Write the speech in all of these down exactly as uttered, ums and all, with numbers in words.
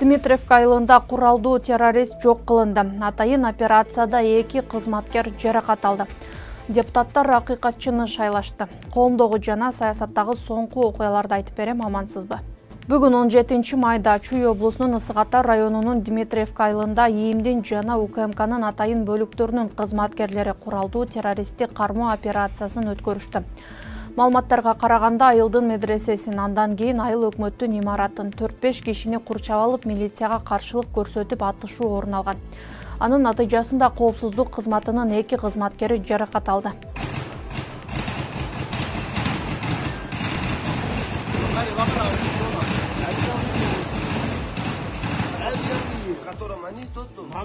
Дмитриевка айылында куралдуу террорист жок кылынды. Атайын операцияда эки кызматкер жаракат алды. Депутаттар акыйкатчыны шайлашты. Коомдогу жана саясаттагы соңку окуяларды айтып берем, амансызбы? Бүгүн он жетинчи майда Чүй облусунун Ысык Ата районунун Дмитриевка айылында ИИМдин жана УКМКнын атайын бөлүктөрүнүн кызматкерлери куралдуу террористтик кармоо операциясын өткөрүштү. Маалыматтарга караганда айылдын медресесин, андан кийин айыл өкмөттүн имаратын төрт беш кишини курчап алып, милицияга каршылык көрсөтүп атышуу орун алган. Анын натыйжасында коопсуздук кызматынын эки кызматкери жаракат алды.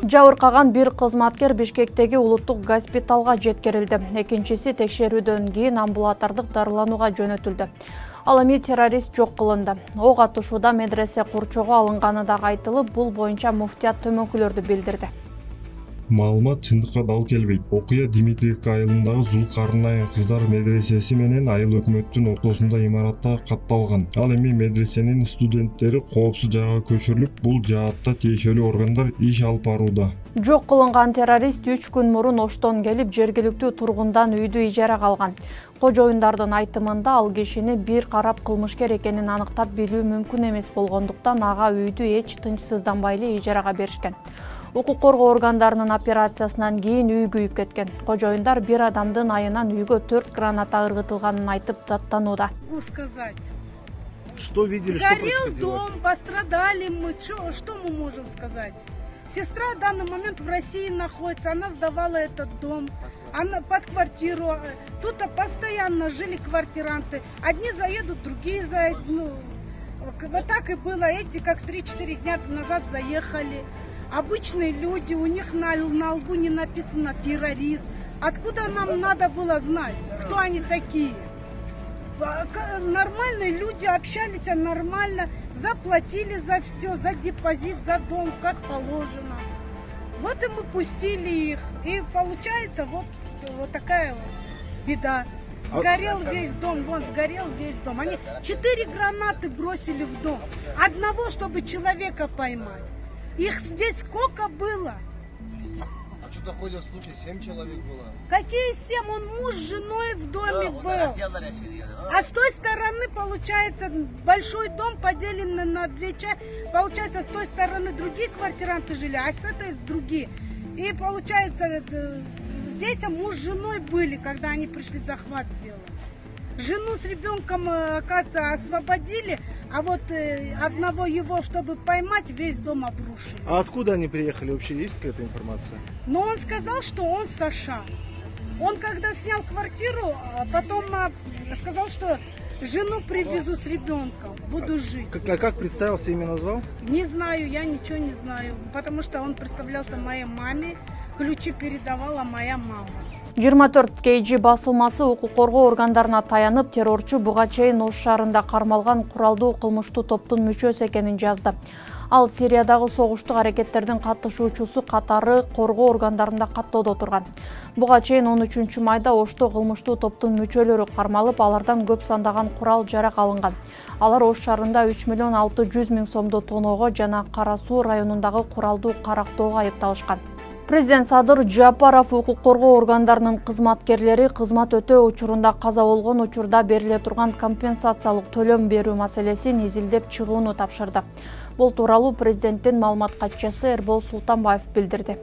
Жабыркаган бир кызматкер Бишкектеги улуттук госпиталга жеткирилди. Экинчиси текшерүүдөн кийин амбулатордук дарыланууга жөнөтүлдү. Ал эми террорист жок кылынды. Ок атышууда медресе курчоого алынганы дагы айтылып, бул боюнча муфтият төмөнкүлөрдү билдирди. Маалымат чындыкка дал келбейт. Окуя Дмитриевка айылындагы Зулкарын айыл кыздар медресеси менен айыл өкмөттүн ортосунда имаратта катталган. Ал эми медресенин студенттери коопсуз жайга көчүрүлүп, бул жаатта тиешелүү органдар иш алып барууда. Жок кылынган террорист үч күн мурун Оштон келип, жергиликтүү тургундан үйдү ижарага алган. Кожоюндардын айтымында ал кишини бир карап кылмышкер экенин аныктап билүү мүмкүн эмес болгондуктан ага үйдү эч тынчсызданбай эле ижарага беришкен. Укук коргоо органдарынын операциясынан кийин үй күйүп кеткен. Кожоюндар бир адамдын айынан үйгө төрт граната ыргытылганын айтып даттанууда. Что видели, что происходило? Сгорел дом, пострадали мы, что, что мы можем сказать? Сестра в данный момент в России находится, она сдавала этот дом, она под квартиру. Тут постоянно жили квартиранты. Одни заедут, другие заедут. Ну, вот так и было. Эти как три-четыре дня назад заехали. Обычные люди, у них на, на лбу не написано террорист. Откуда нам надо было знать, кто они такие? Нормальные люди общались нормально, заплатили за все, за депозит, за дом, как положено. Вот и мы пустили их. И получается вот, вот такая вот беда. Сгорел весь дом, вон сгорел весь дом. Они четыре гранаты бросили в дом. Одного, чтобы человека поймать. Их здесь сколько было? А что-то ходят слухи, семь человек было. Какие семь? Он муж с женой в доме был. А с той стороны, получается, большой дом поделен на две части. Получается, с той стороны другие квартиранты жили, а с этой с другие. И получается, здесь муж с женой были, когда они пришли захват делать. Жену с ребенком, оказывается, освободили, а вот одного его, чтобы поймать, весь дом обрушили. А откуда они приехали? Вообще есть какая-то информация? Но он сказал, что он с США. Он когда снял квартиру, потом сказал, что жену привезу с ребенком, буду жить. Как, а как представился, имя назвал? Не знаю, я ничего не знаю, потому что он представлялся моей маме, ключи передавала моя мама. жыйырма төрт кей джи басылмасы укук коргоо органдарына таянып, террорчу буга чейин Ош шаарында кармалган куралдуу кылмыштуу топтун мүчөсү экенин жазды. Ал Сириядагы согуштук аракеттердин катышуучусу катары коргоо органдарында каттоодо турган. Буга чейин он үчүнчү майда Ошто кылмыштуу топтун мүчөлөрү кармалып, алардан көп сандаган курал жарак алынган. Алар Ош шаарында үч миллион алты жүз миң сомду тоноого жана Кара Суу районундагы куралдуу карактоого айыпталышкан. Президент Садыр Жапаров укук коргоо органдарынын кызматкерлери кызмат өтөө учурунда каза болгон учурда бериле турган компенсациялык төлөм берүү маселесин изилдеп чыгууну тапшырды. Бул тууралуу президенттин маалымат катчысы Эрбол Султанбаев билдирди.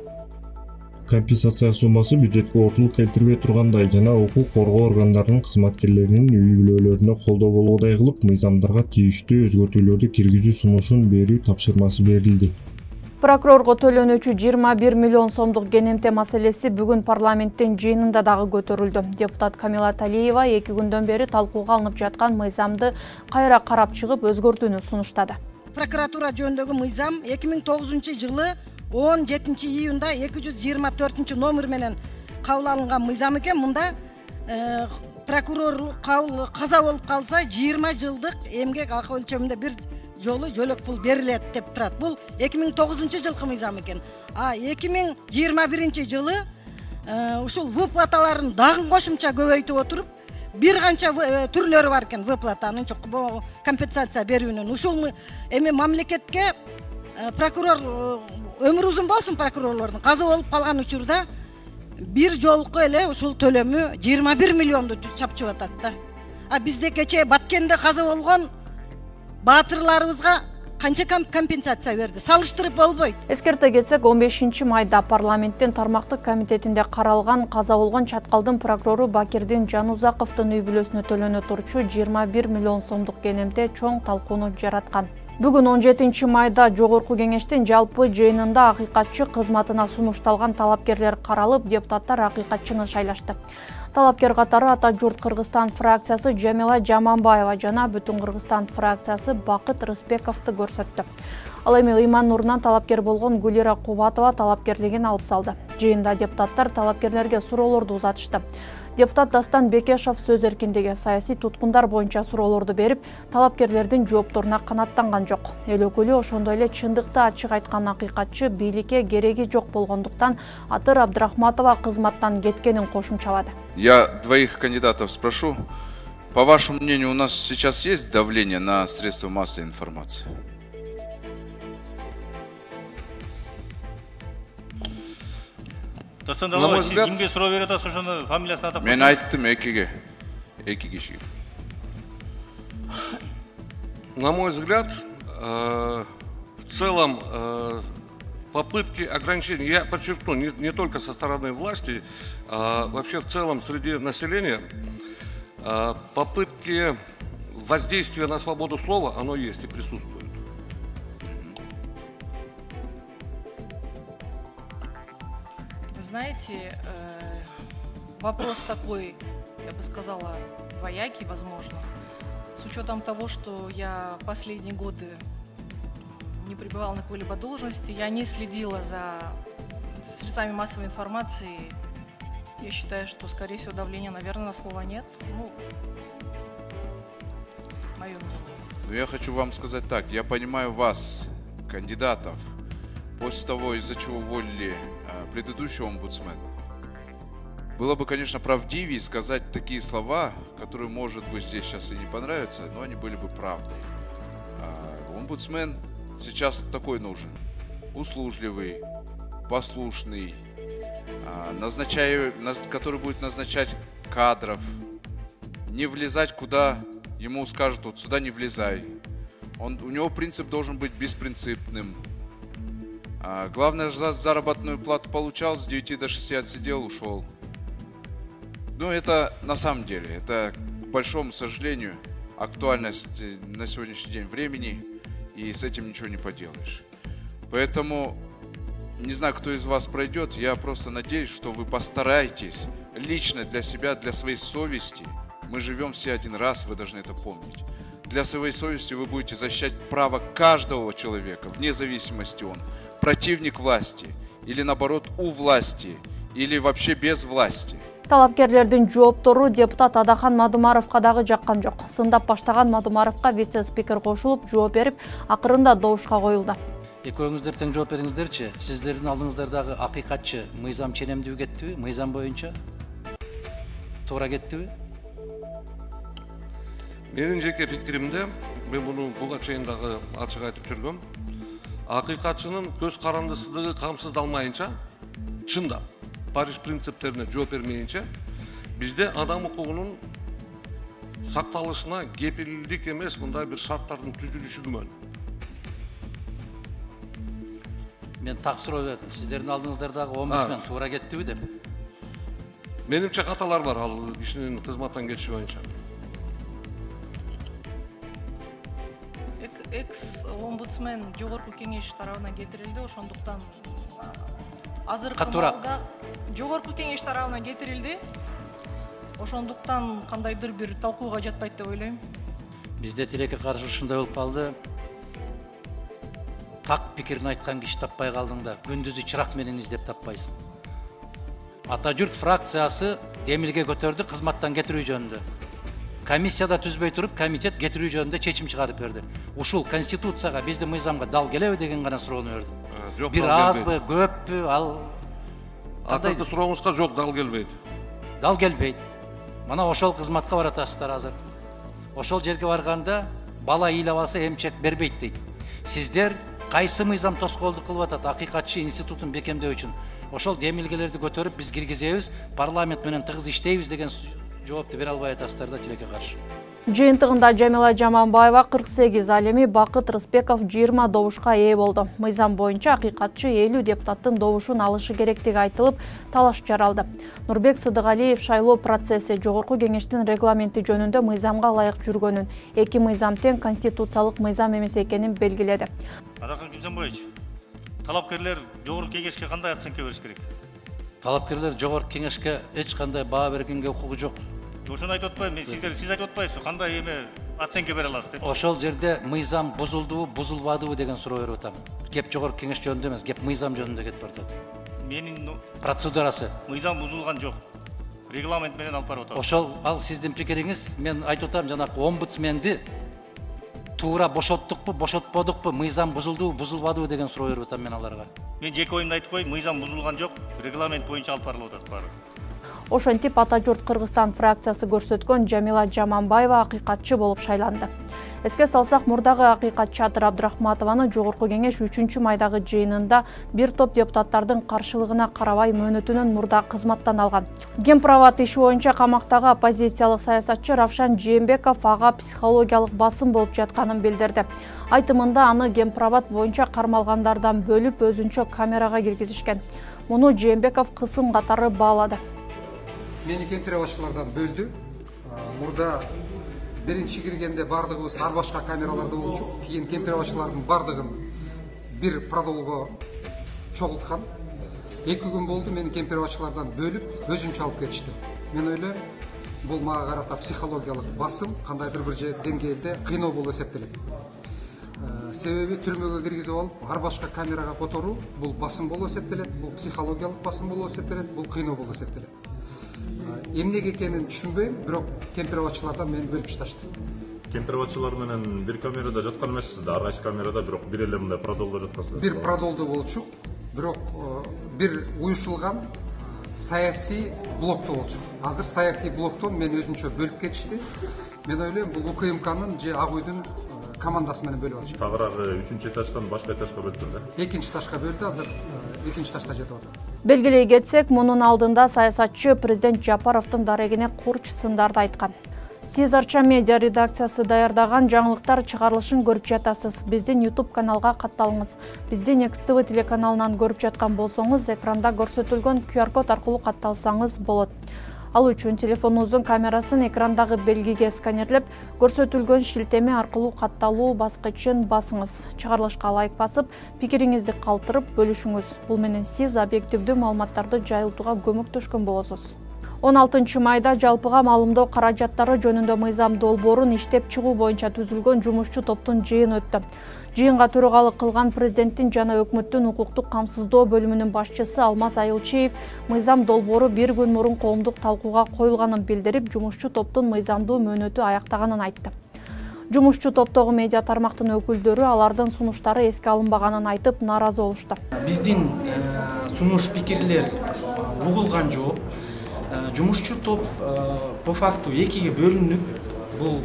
Компенсация суммасы бюджетке оорчулук келтирбей тургандай жана укук коргоо органдарынын кызматкерлеринин үй бүлөлөрүнө колдоо болгодай кылып, мыйзамдарга тийиштүү өзгөртүүлөрдү киргизүү сунушун берүү тапшырмасы берилди. Прокурорго төлөнүүчү жыйырма бир миллион сомдук кенемте маселеси бүгүн парламенттин жыйынында дагы көтөрүлдү. Депутат Камила Талиева эки күндөн бери талкууга алынып жаткан мыйзамды кайра карап чыгып, өзгөртүүнү сунуштады. Прокуратура жөнүндөгү мыйзам эки миң тогузунчу жылы он жетинчи июнда эки жүз жыйырма төртүнчү номер менен кабыл алынган мыйзам экен. Мында э, прокурор кабыл каза болуп калса жыйырма жылдык эмгек акы өлчөмүндө бир жолу жөлөк пул берилет деп турат. Бул эки миң тогузунчу жылкы мыйзам экен. А эки миң жыйырма биринчи жылы ушул выплаталарын дагы кошумча көбөйтүп отуруп, бир канча түрлөрү бар экен выплатанын, компенсация берүүнүн. Ушул эми мамлекетке прокурор өмүрү узун болсун прокурорлордун. Каза болуп калган учурда бир жолку эле ушул төлөмү жыйырма бир миллионду чапчып атат да. А бизде кечээ Баткенде каза болгон баатырларыбызга канча компенсация берди? Салыштырып болбойт. Эскерте кетсек, он бешинчи майда парламенттин тармактык комитетинде каралган каза болгон Чаткалдын прокурору Бакирдин Жанузаковдун үй бүлөсүнө төлөнө турчу жыйырма бир миллион сомдук кенемте чоң талкууну жараткан. Бүгүн он жетинчи майда Жогорку кеңештин жалпы жыйынында акыйкатчы кызматына сунушталган талапкерлер каралып, депутаттар акыйкатчыны шайлашты. Талапкер катары Ата журт Кыргызстан фракциясы Жамила Жаманбаева жана Бүтүн Кыргызстан фракциясы Бакыт Рысбековду көрсөттү. Ал эми Ыйман Нурунан талапкер болгон Гулира Кубатова талапкерлигин алып салды. Жыйында депутаттар талапкерлерге суроолорду узатышты. Депутат Дастан Бекешов сөз эркиндиги, саясий туткундар боюнча суроолорду берип, талапкерлердин жоопторуна канааттанган жок. Эл өкүлү ошондой эле чындыкты ачык айткан акыйкатчы бийликке кереги жок болгондуктан Атыр Абдрахматова кызматтан кеткенин кошумчалады. Я двоих кандидатов спрошу. По вашему мнению, у нас сейчас есть давление на средства массовой информации? На мой взгляд, кимге суроо берип атасыз, ошону фамилиясын атап. Мен айттым экиге. Эки кишиге. На мой взгляд, в целом попытки ограничения, я подчеркну, не, не только со стороны власти, а вообще в целом среди населения, попытки воздействия на свободу слова, оно есть и присутствует. Знаете, вопрос такой, я бы сказала, двоякий, возможно. С учетом того, что я последние годы не пребывала на какой-либо должности, я не следила за средствами массовой информации. Я считаю, что, скорее всего, давления, наверное, на слово нет. Ну, мое мнение. Но я хочу вам сказать так. Я понимаю вас, кандидатов, после того, из-за чего уволили предыдущего омбудсмена. Было бы, конечно, правдивее сказать такие слова, которые, может быть, здесь сейчас и не понравятся, но они были бы правдой. А омбудсмен сейчас такой нужен. Услужливый, послушный, назначая, который будет назначать кадров, не влезать куда ему скажут, вот сюда не влезай. Он, у него принцип должен быть беспринципным. А главное, за заработную плату получал, с девяти до шести отсидел, ушел. Ну, это на самом деле, это, к большому сожалению, актуальность на сегодняшний день времени, и с этим ничего не поделаешь. Поэтому, не знаю, кто из вас пройдет, я просто надеюсь, что вы постараетесь лично для себя, для своей совести, мы живем все один раз, вы должны это помнить. Для своей совести вы будете защищать право каждого человека, вне зависимости он противник власти или наоборот у власти или вообще без власти. Талапкерлердин жооптору депутат Адахан Мадумаровка дагы жаккан жок. Сындап баштаган Мадумаровка вице-спикер кошулуп жооп берип, акырында добушка коюлду. Экөөңүздөр тең жооп бериңиздерчи. Сиздердин алдыңыздардагы акыйкатчы Мыйзам ченемдүү кеттиби? Мыйзам боюнча туура кеттиби? Менин жеке пикиримде, мен муну буга чейин дагы ачык айтып жүргөм. Акыйкатчынын көз карандысыздыгы камсыздалмайынча, чындап Париж принциптерине жооп бермейинче, бизде адам укугунун сакталышына кепилдик эмес мындай бир шарттардын түзүлүшү күмөн. Мен так суроо бердим. Сиздердин алдыңыздардагы омбудсмен туура кеттиби деп? Менимче каталар бар ал кишинин кызматтан кетиши боюнча. Экс-омбудсмен Жогорку кеңеш тарабынан кетирилди, ошондуктан азыркы Катуураак. маалда Жогорку кеңеш тарабынан кетирилди. Ошондуктан кандайдыр бир талкууга жатпайт деп ойлойм. Бизде тилекке каршы ушундай болуп калды. Так пикирин айткан киши таппай калдың да, күндүзү чырак менен издеп таппайсың. Ата журт фракциясы демилге көтөрдү кызматтан кетирүү жөнүндө. Комиссияда түзбөй туруп, комитет кетирүү жөнүндө чечим чыгарып берди. Ушул конституцияга, биздин мыйзамга дал келеби деген гана суроону бердим. Бир азбы, көппү, ал Атыркы сурооңузга жок, дал келбейт. Дал келбейт. Мына ошол кызматка баратасыздар азыр. Ошол жерге барганда бала ыйлап алса эмчек бербейт дейт. Сиздер кайсы мыйзам тоскоолдук кылып атат акыйкатчы институтун бекемдөө үчүн? Ошол демилгелерди көтөрүп биз киргизебиз, парламент менен тыгыз иштейбиз деген жоопту бере албай атасыздар да тилекке каршы. Жыйынтыгында Жамила Жаманбаева кырк сегиз, ал эми Бакыт Рыспеков жыйырма добушка ээ болду. Мыйзам боюнча акыйкатчы элүү депутаттын добушун алышы керектиги айтылып, талаш жаралды. Нурбек Сыдыгалиев шайлоо процесси Жогорку Кеңештин регламенти жөнүндө мыйзамга ылайык жүргөнүн, эки мыйзам тең конституциялык мыйзам эмес экенин белгиледи. Адахан Кимжанбаевич, талапкерлер Жогорку Кеңешке кандай оценка бериш керек? Талапкерлер Жогорку Кеңешке эч кандай баа бергенге укугу жок. Ошону айтып атпайбы, мен сиздер сиз айтып атпайсызбы, кандай эме оценка бере аласыз деп? Ошол жерде мыйзам бузулдубу, бузулбадыбы деген суроо берип атам. Кеп Жогорку Кеңеш жөнүндө эмес, кеп мыйзам жөнүндө кетип атат. Менин процедурасы. Мыйзам бузулган жок. Регламент менен алып барып атат. Ошол ал сиздин пикириңиз, мен айтып атам, жанакы омбудсменди туура бошоттукпу, бошотподукпу, мыйзам бузулдубу, бузулбадыбы деген суроо берип атам мен аларга. Мен жеке оюмду айтып коеюн, мыйзам бузулган жок, регламент боюнча алып барылып атат баары. Ошентип Ата журт Кыргызстан фракциясы көрсөткөн Жамила Жаманбаева акыйкатчы болуп шайланды. Эске салсак, мурдагы акыйкатчы Адыр Абдрахматованы Жогорку Кеңеш үчүнчү майдагы жыйынында бир топ депутаттардын каршылыгына карабай мөөнөтүнөн мурда кызматтан алган. Гемправат иши боюнча камактагы оппозициялык саясатчы Равшан Жээнбеков ага психологиялык басым болуп жатканын билдирди. Айтымында аны гемправат боюнча кармалгандардан бөлүп өзүнчө камерага киргизишкен. Муну Жээнбеков кысым катары баалады. Мени кемпировачылардан бөлдү. Мурда биринчи киргенде бардыгыбыз ар башка камераларда болчук. Кийин кемпировачылардын бардыгын бир продолго чогулткан. эки күн болду, мени кемпировачылардан бөлүп, өзүнчө алып кетишти. Мен ойлойм, бул мага карата психологиялык басым, кандайдыр бир деңгээлде кыйноо болуп эсептелет. Себеби түрмөгө киргизип алып, ар башка камерага которуу бул басым болуп эсептелет, бул психологиялык басым болуп эсептелет, бул кыйноо болуп эсептелет. Эмнеге экенин түшүнбөйм, бирок кемпировачылардан мени бөлүп ташташты. Кемпировачылар менен бир камерада жаткан эмессиз да, ар кайсы камерада, бирок бир эле мындай продолдо жаткансыз. Бир продолдо болчук, бирок бир уюшулган саясий блокто болчук. Азыр саясий блоктон мени өзүнчө бөлүп кетишти. Мен ойлойм, бул УКМКнын же Ак үйдүн командасы менен бөлүп алышты. Тагыраагы үчүнчү этаждан башка этажга бөлдү да? Экинчи этажга бөлдү, азыр экинчи этажда жатып атат. Белгилей кетсек, мунун алдында саясатчы президент Жапаровдун дарегине курч сындарды айткан. Сиз Арча медиа редакциясы даярдаган жаңылыктар чыгарылышын көрүп жатасыз. Биздин YouTube каналга катталыңыз. Бизди Next ти ви телеканалынан көрүп жаткан болсоңуз, экранда көрсөтүлгөн ку ар код аркылуу катталсаңыз болот. Ал үчүн телефонуңуздун камерасын экрандагы белгиге сканерлеп, көрсөтүлгөн шилтеме аркылуу катталуу баскычын басыңыз. Чыгарылышка лайк басып, пикириңизди калтырып бөлүшүңүз. Бул менен сиз объективдүү маалыматтарды жайылтууга көмөктөшкөн болосуз. он алтынчы майда жалпыга маалымдоо каражаттары жөнүндө мыйзам долбоорун иштеп чыгуу боюнча түзүлгөн жумушчу топтун жыйыны өттү. Жыйынга төрагалык кылган президенттин жана өкмөттүн укуктук камсыздоо бөлүмүнүн башчысы Алмаз Айылчиев мыйзам долбоору бир күн мурун коомдук талкууга коюлганын билдирип, жумушчу топтун мыйзамдуу мөөнөтү аяктаганын айтты. Жумушчу топтогу медиа тармактын өкүлдөрү алардын сунуштары эске алынбаганын айтып, нааразы болушту. Биздин сунуш пикирлер угулган жок. Жумушчу топ по факту экиге бөлүнүп, бул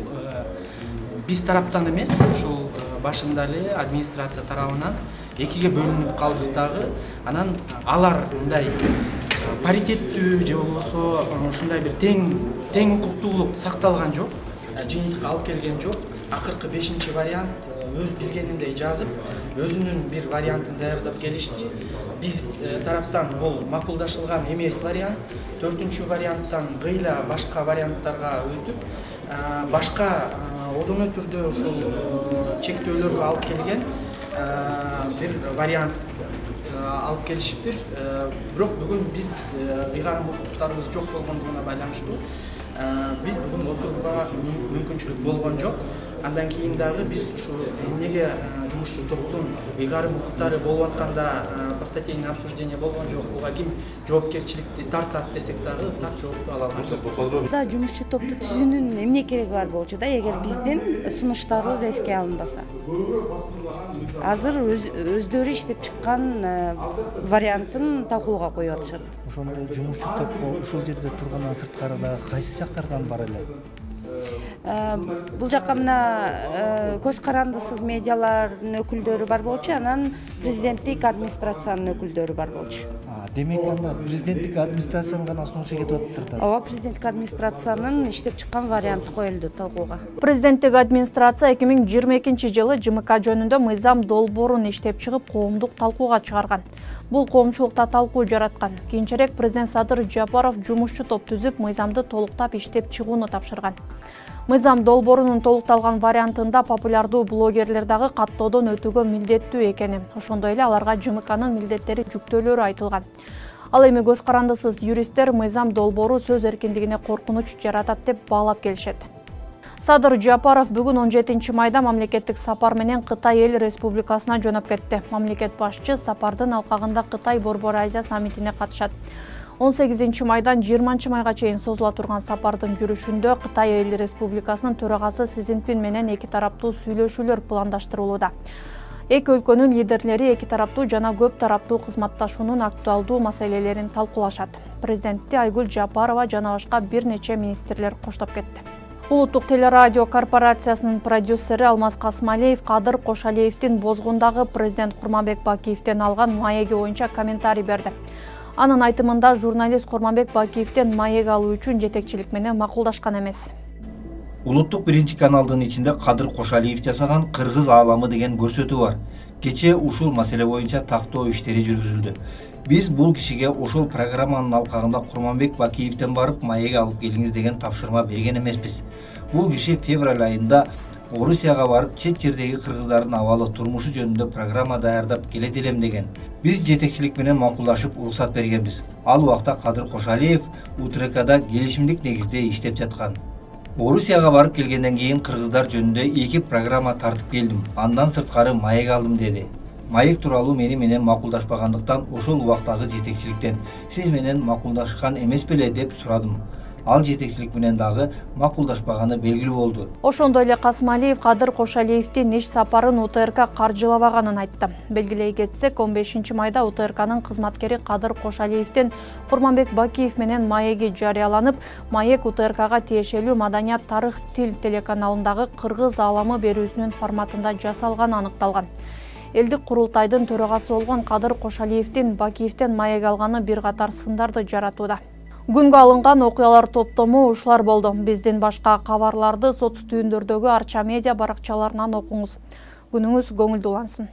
биз тараптан эмес, ушул башында эле администрация тарабынан экиге бөлүнүп калдык дагы. Анан алар мындай паритеттүү же болбосо ушундай бир тең тең укуктуулук сакталган жок, жыйынтыкка алып келген жок. Акыркы бешинчи вариант өз билгениндей жазып, өзүнүн бир вариантын даярдап келишти. Биз тараптан бул макулдашылган эмес вариант, төртүнчү варианттан гыйла башка варианттарга өтүп, башка одоно түрдө ушул чектөөлөргө алып келген бир вариант алып келишиптир. Бирок бүгүн биз ыйгарым укуктарыбыз жок болгондугуна байланыштуу биз бүгүн отурууга мүмкүнчүлүк болгон жок. Андан кийин дагы биз ушу эмнеге жумушчу топтун ыйгарым укуктары болуп атканда постатейный обсуждение болгон жок, буга ким жоопкерчиликти тартат десек дагы так жоопту ала алган жокпуз. Да, жумушчу топту түзүүнүн эмне кереги бар болчу да, эгер биздин сунуштарыбыз эске алынбаса. Азыр өздөрү иштеп чыккан вариантын талкууга коюп атышат. Ошондой жумушчу топко ушул жерде тургандан сырткары дагы кайсы жактардан бар эле? Бул жакка мына көз карандысыз медиалардын өкүлдөрү бар болчу, анан президенттик администрациянын өкүлдөрү бар болчу. Демек анда президенттик администрациянын гана сунушу кетип атыптыр. Ооба, президенттик администрациянын иштеп чыккан варианты коюлду талкууга. Президенттик администрация эки миң жыйырма экинчи жылы ЖМК жөнүндө мыйзам долбоорун иштеп чыгып, коомдук талкууга чыгарган. Бул коомчулукта талкуу жараткан. Кийинчерээк президент Садыр Жапаров жумушчу топ түзүп, мыйзамды толуктап иштеп чыгууну тапшырган. Мыйзам долбоорунун толукталган вариантында популярдуу блогерлер дагы каттоодон өтүүгө милдеттүү экени, ошондой эле аларга ЖМКнын милдеттери жүктөөлөрү айтылган. Ал эми көз карандысыз юристтер мыйзам долбоору сөз эркиндигине коркунуч жаратат деп баалап келишет. Садыр Жапаров бүгүн он жетинчи майда мамлекеттик сапар менен Кытай эл республикасына жөнөп кетти. Мамлекет башчы сапардын алкагында Кытай Борбор Азия саммитине катышат. он сегизинчи майдан жыйырманчы майга чейин созула турган сапардын жүрүшүндө Кытай эл республикасынын төрагасы Си Цзиньпин менен эки тараптуу сүйлөшүүлөр пландаштырылууда. Эки өлкөнүн лидерлери эки тараптуу жана көп тараптуу кызматташуунун актуалдуу маселелерин талкуулашат. Президентти Айгүл Жапарова жана башка бир нече министрлер коштоп кетти. Улуттук телерадио корпорациясынын продюсери Алмаз Касмалиев Кадыр Кошалиевдин бозгундагы президент Курманбек Бакиевден алган маеги боюнча комментарий берди. Анын айтымында журналист Курманбек Бакиевден маек алуу үчүн жетекчилик менен макулдашкан эмес. Улуттук биринчи каналдын ичинде Кадыр Кошалиев жасаган Кыргыз ааламы деген көрсөтүү бар. Кечээ ушул маселе боюнча тактоо иштери жүргүзүлдү. Биз бул кишиге ошол программанын алкагында Курманбек Бакиевден барып маек алып келиңиз деген тапшырма берген эмеспиз. Бул киши февраль айында Орусияга барып чет жердеги кыргыздардын абалы турмушу жөнүндө программа даярдап келет элем деген. Биз жетекчилик менен макулдашып уруксат бергенбиз. Ал убакта Кадыр Кошалиев УТРКда келишимдик негизде иштеп жаткан. Орусияга барып келгенден кийин кыргыздар жөнүндө эки программа тартып келдим. Андан сырткары маек алдым деди. Маек тууралуу мени менен макулдашпагандыктан ошол убактагы жетекчиликтен сиз менен макулдашкан эмес беле деп сурадым. Ал жетекчилик менен дагы макулдашпаганы белгилүү болду. Ошондой эле Касмалиев Кадыр Кошалиевдин иш сапарын УТРК каржылабаганын айтты. Белгилей кетсек, он бешинчи майда УТРКнын кызматкери Кадыр Кошалиевдин Курманбек Бакиев менен маеги жарыяланып, маек УТРКга тиешелүү Маданият, тарых, тил телеканалындагы Кыргыз ааламы берүүсүнүн форматында жасалганы аныкталган. Элдик курултайдын төрагасы болгон Кадыр Кошалиевдин Бакиевден маек алганы бир катар сындарды жаратууда. Күнгө алынган окуялар топтому ушулар болду. Биздин башка кабарларды соц түйүндөрдөгү Арча медиа баракчаларынан окуңуз. Күнүңүз көңүлдүү улансын.